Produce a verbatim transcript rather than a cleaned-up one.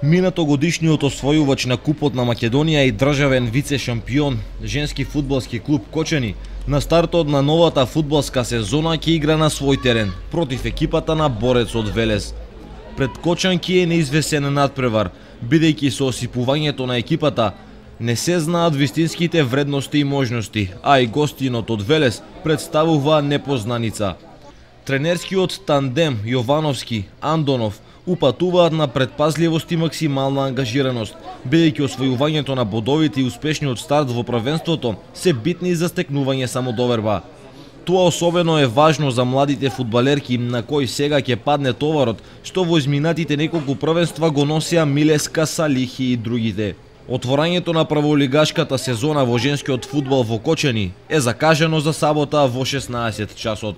Минатогодишниот освојувач на Купот на Македонија и државен вице-шампион женски фудбалски клуб Кочани на стартот на новата фудбалска сезона ќе игра на свој терен против екипата на Борецот Велес. Пред Кочанки е неизвесен надпревар, бидејќи со осипувањето на екипата не се знаат вистинските вредности и можности, а и гостинот од Велес представува непознаница. Тренерскиот тандем Јовановски-Андонов упатуваат на предпазливост и максимална ангажираност, бидејќи освојувањето на бодовите и успешниот старт во првенството се битни за стекнување самодоверба. Тоа особено е важно за младите фудбалерки на кои сега ќе падне товарот што во изминатите неколку првенства го носеа Милеска, Салихи и другите. Отворањето на прволигашката сезона во женскиот фудбал во Кочани е закажано за сабота во шеснаесет часот.